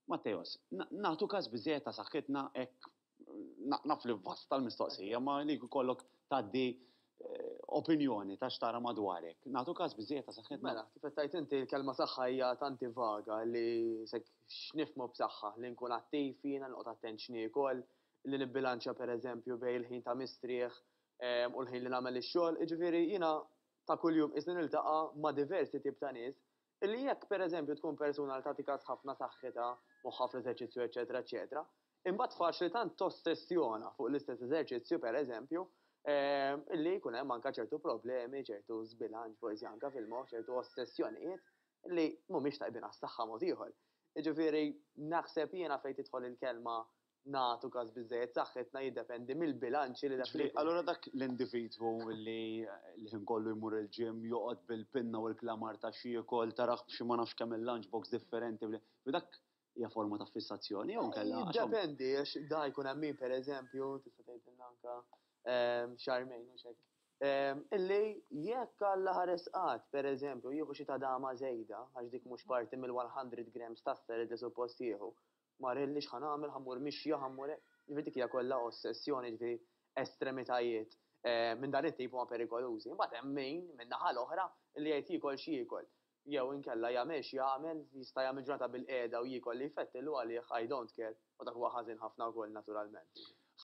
Matteos, nagħtu każ biżżejjed ta' saħħitna hekk naf li vasta l-mistoqsija, ma li jkollok tgħaddi opinjoni ta' x'tara madwarek. Nagħtu każ biżżejjed ta' saħħitna? Mela, kif qed tgħid inti l-kelma saħħa hija tanti vaga li sek x'nifhmu b'saħħa, li nkun attiv jiena, noqgħod attent x'niekol, li nibbilanċja pereżempju bejn il-ħin ta' mistrieħ u l-ħin li nagħmel ix-xogħol. Jiġifieri jiena ta' kuljum qisni niltaqa' ma' diversi tip ta' nies Illi jekk, per eżempju, tkun persuna li tagħti kas ħafna saħħitha, moħħha fl-eżerċizzju eċċetera eċċetera, imbagħad faċli tant tossessjona fuq l-istess eżerċizzju, per eżempju, illi jkun hemm anke ċertu problemi, ċertu żbilanċ forsi anke fil-moħħ, ċertu ossessjonijiet li mhumiex tajbin għas-saħħa mod ieħor. Jiġifieri naħseb jiena fejn tidħol il-kelma nagħtu każ biżżejjed saħħitna jiddependi mill-bilanċi li dak li jkun. Allura dak l-individwu li l-ħin kollu jmur il-gym, joqgħod bil-pinna u l-klamar ta' x'jiekol, tarah b'xi ma nafx kemm il-lunch box differenti, dak hija forma ta' fissazzjoni jew inkella. Jiddependi għax da jkun hemm min pereżempju, tista' tgħidilna anke Charmaine hux hekk, illi jekk Alla ħares qatt pereżempju jieħu xi tadama żejda għax dik mhux parti mill-100 grams ta' salad li suppost jieħu, Marelli x'ħa nagħmel, ħa mmur mixja, ħa mmur hekk. Jiġifieri dik hija kollha ossessjoni, jiġifieri estremitajiet minn dan it-tip huma perikolużi. Imbagħad hemm min, min-naħa l-oħra, li jgħid jiekol x'jiekol. Jew inkella jagħmel x'jagħmel, jista' jagħmel ġurnata bilqiegħda u jiekol li jfettillu għalih I don't care, u dak huwa ħażin ħafna wkoll naturalment.